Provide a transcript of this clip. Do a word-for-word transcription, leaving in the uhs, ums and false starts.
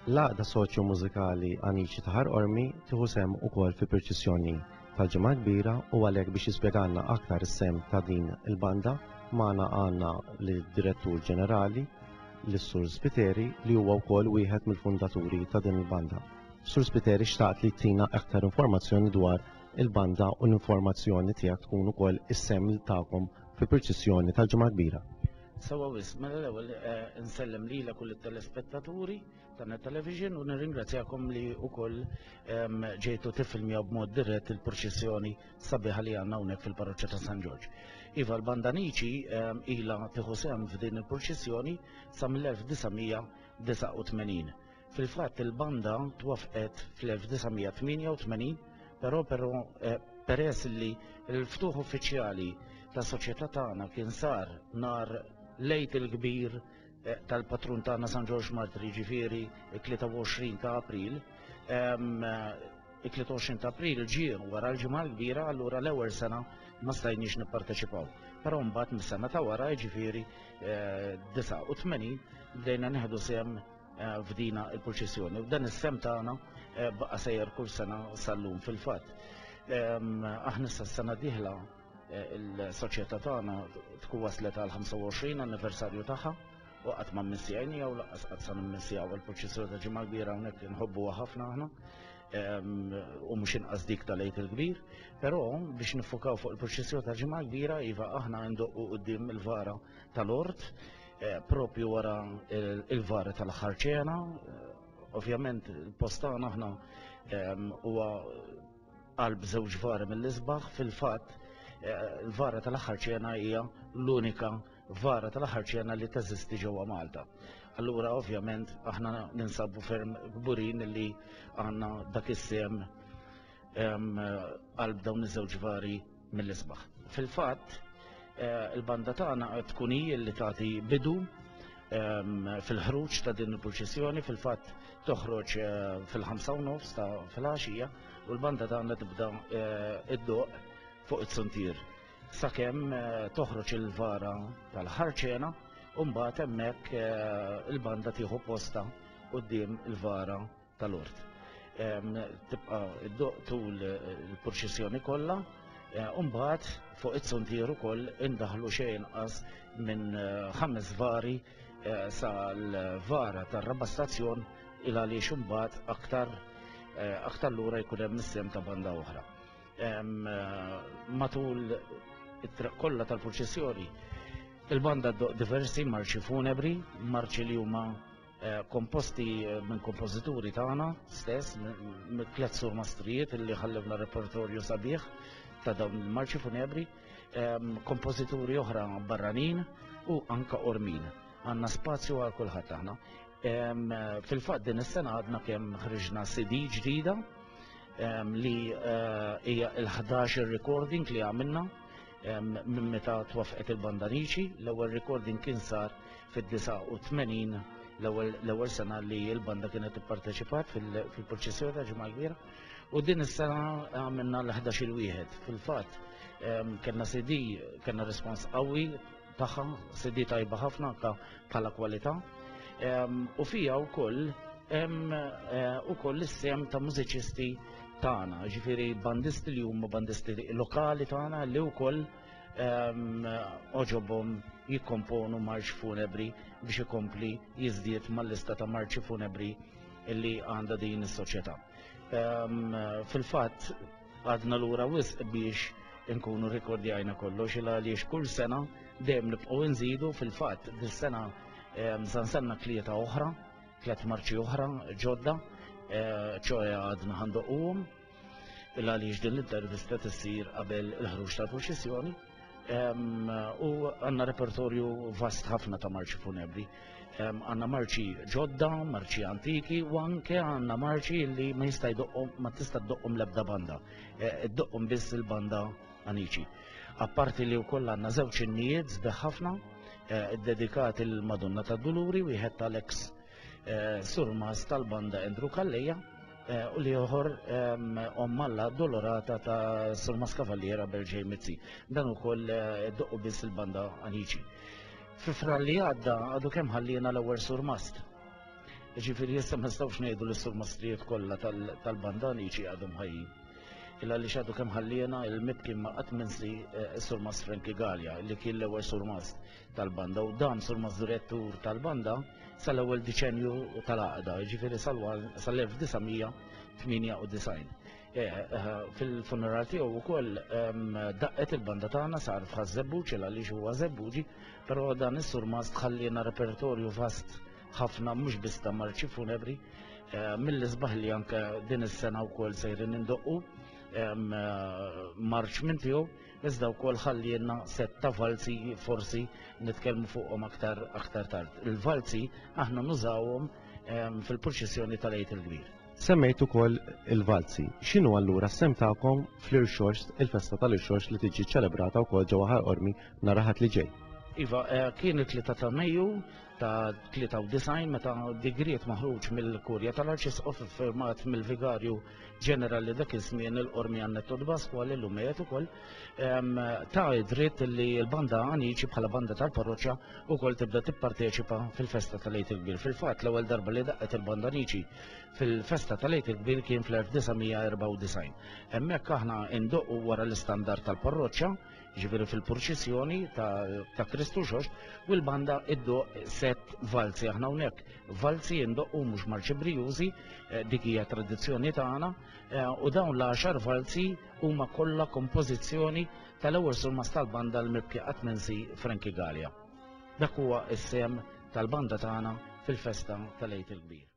L-Għaqda Soċjo-Mużikali Anici ta' Ħal Qormi tieħu sehem ukoll fi purċissjoni tal-Ġimgħa Kbira u għalhekk biex jispjegalna aktar is-sehem ta' din il-banda magħna għandna lid-Direttur Ġenerali lis-Sur Spiteri li huwa wkoll wieħed mill-fundaturi ta' din il-banda. Sur Spiteri xtaqt li tina aktar informazzjoni dwar il-banda u l-informazzjoni tiegħek tkun ukoll is-sehem tagħkom fi purċissjoni tal-Ġimgħa Kbira. Sewwa wisq, mela l-ewwel eh, nsellem lilek u lit-telespettaturi ta' Net Television u nirringrazzjakom li wkoll ehm, ġejtu tiffilmjaw b'mod dirett il-purċissjoni sabiħa li għandna hawnhekk fil-Parroċċa ta' San Ġorġ. Iva l-Banda Anici ehm, ilha tieħu sehem f'din il-purċissjoni sa mill-elf disa' mija disgħa u tmenin. Fil-fatt il-banda twafqet fl-elf disa' mija tmienja u tmenin, però però eh, peress li l-ftuħ uffiċjali tas-soċjetà tagħna kien sar nhar l-Għid il-Kbir eh, tal-patrun tagħna San Ġorġ Martri, ġifieri it-tlieta u għoxrin ta' April, ehm, it-tlieta u għoxrin ta' April ġie wara l-Ġimgħa l-Kbira, allura l-ewwel sena ma stajniex nipparteċipaw. Però mbagħad mis-sena ta' wara, ġifieri, eh, disgħa u tmenin, bdejna nieħdu sehem, eh, f'dina il-purċissjoni. U dan is-sehem tagħna, eh, baqa' sejjer kull sena sal-lum fil-fatt. Ehm, aħna issa s-sena dieħla, eh, il-soċjetà tagħna tkun waslet għal ħamsa u għoxrin anniversarju tagħha u qatt ma mmissjajnija u lanqas qatt sa nimmissjaw il-purċissjoni ta' Ġimgħa Kbira hawnhekk inħobbuha ħafna aħna, ehm, u mhux inqas dik tal-Għid il-Kbir, però biex nifukaw fuq il-purċissjoni ta' Ġimgħa Kbira, iva aħna ndoqqu quddiem il-vara tal-Ort, eh, propju wara il-, il-vara tal-aħħar ċena. Eh, ovvjament il-post tagħna aħna, ehm, huwa qalb żewġ vari mill-isbaħ, fil-fatt, eh, il-vara tal-aħħar ċena hija l-unika vara tal-aħħar ċena li teżisti ġewwa Malta. Allura ovvjament aħna ninsabu ferm kburin li għandna dak is-sehem, ehm, qalb dawn iż-żewġ vari mill-isbaħ. Fil-fatt, eh, il-banda tagħna tkun hi li tagħti bidu, ehm, fil-ħruġ ta' din il-purċissjoni, fil-fatt toħroġ, eh, fil-ħamsa u nofs ta' filgħaxija u l-banda tagħna tibda, eh, iddoq fuq it-suntier sakemm, eh, toħroġ il-vara tal-ħarċena u mbagħad hemmhekk, eh, il-banda tieħu posta quddiem il-vara tal-Ort. Ehm, tibqa' iddoq tul il-purċissjoni kollha, eh, u mbagħad fuq it-suntier ukoll indaħlu xejn inqas minn, eh, ħames vari, eh, sal-vara tar-raba' stazzjon il għaliex imbagħad aktar, eh, aktar lura jkun hemm is-sehem ta' banda oħra. Ehm, eh, matul it-triq kollha tal-purċissjoni il-banda ddoq diversi marċi funebri, marċi li huma, eh, komposti, eh, minn kompożituri tagħna stess, minn tliet surmastrijiet li ħallewna repertorju sabiħ ta' dawn il-marċi funebri, ehm, kompożituri oħra barranin u anka ormin. Għandna spazju għal kulħadd aħna. Ehm, fil-fatt din is-sena għadna kemm ħriġna C D ġdida, ehm, li, eh, hija il-ħdax il-recording li għamilna, ehm, minn meta twafqet il-Banda Anici. L-ewwel recording kien sar fid-disgħa u tmenin, l-ewwel, l-ewwel sena li l-banda kienet ipparteċipat fil-, fil-purċissjoni ta' Ġimgħa Kbira, u din is-sena għamilna l-ħdax il-wieħed. Fil-fatt, ehm, kellna C D, kellna respons qawwi tagħha, C D tajba ħafna anke bħala kwalità. Ehm, u fija wkoll hemm, eh, ukoll is-sehem ta' mużiċisti tagħna, ġifieri bandisti li huma bandisti lokali tagħna li wkoll, ehm, oġobhom jikkomponu marċ funebri biex ikompli jiżdied mal-lista ta' marċi funebri li għandha din is-soċjetà. Ehm, fil-fatt għadna lura wisq biex inkunu rikordjajna kollox il għaliex kull sena dejjem nibqgħu nżidu. Fil-fatt dis-sena, ehm, sansanna tlieta oħra, tliet marċi oħra ġodda, eh, ċoħe għadna ħandoquhom il għaliex din l-intervista tissir qabel il-ħruġ tal-purċissjoni. Ehm, u għandna repertorju vast ħafna ta' marċi funebri. Ehm, għandna marċi ġodda, marċi antiki, u anke għandna marċi li ma jista' jdoqqhom, ma tista' ddoqqhom l-ebda banda. Eh, iddoqqhom biss il-banda Anici. Apparti li wkoll għandna żewġ innijiet sbieħ ħafna, eh, dedikati l-Madonna tad-Duluri, wieħed tal-ex, eh, surmas tal-banda Andrew Calleja, eh, u li oħor, ehm, Omm Alla Dolorata ta' Surmas Kavalliera Berġej Mizzi. Dan ukoll, eh, doqqu biss il-banda Anici. Fi Frar li għadda għadu kemm ħallina l-ewwel surmast. Ġifieri issa ma nistgħux ngħidu li s-surmastrijiet kollha tal-banda Anici għadhom ħajjin. Illa li xadu kemm ħalliena il-mibki ma qatt minsi s-surmast Frankie Galea li kien l-ewwel surmast tal-banda u dan surmast direttur tal-banda sal-ewwel diċenju tal-għaqda, ġifieri sal-elf disa' mija tmienja u disgħin. Fil-funeral tiegħu wkoll daqqet il-banda tagħna sar f'Ħaż-Żebbuġ għaliex huwa Żebbuġi, però dan is-surmast ħalliena repertorju vast ħafna mhux biss ta' marċi funebri, mill-isbaħ li anke din is-sena wkoll sejrin indoqqu marċ minn tiegħu, iżda wkoll ħallielna set ta' valzi forsi nitkellmu fuqhom aktar aktar tard. Il-valzi aħna nużawhom fil-purċissjoni tal-Għid il-Kbir. Semmejt ukoll il-valzi. X'inhu allura s-sem tagħkom fl-Irxoxt, il-festa tal-Irxoxt li tiġi ċelebrata wkoll ġewwa Ħal Qormi nhar Ħadd li ġej? Iva, kien it-tlieta ta' Mejju ta' tlieta u disgħin meta digriet maħruġ mill-Kurja tal-Arċisqof iffirmat mill-Vigarju Ġenerali dak iż-żmien il-Qormi Annetto Pasquale li llum qiegħed ukoll, ta' id-dritt li l-banda Anici bħala banda tal-parroċċa wkoll tibda tipparteċipa fil-festa tal-Għid il-Kbir. Fil-fatt l-ewwel darba li daqqet il-banda Anici fil-festa tal-Għid il-Kbir kien fl-elf disa' mija erbgħa u disgħin. Hemmhekk aħna indoqqu wara l-istandard tal-parroċċa, ġifieri fil-purċissjoni ta' Kristu Xoxt, u l-banda iddoq set valzi. Aħna hawnhekk valzi indoqqu mhux marċi brijużi, dik hija tradizzjoni tagħna, u dawn l-għaxar valzi huma kollha kompożizzjoni tal-ewwel surmast tal-banda l-mibki qatt minsi Frankie Galea. Dak huwa s-sem tal-banda tagħna fil-festa tal-Għid il-Kbir.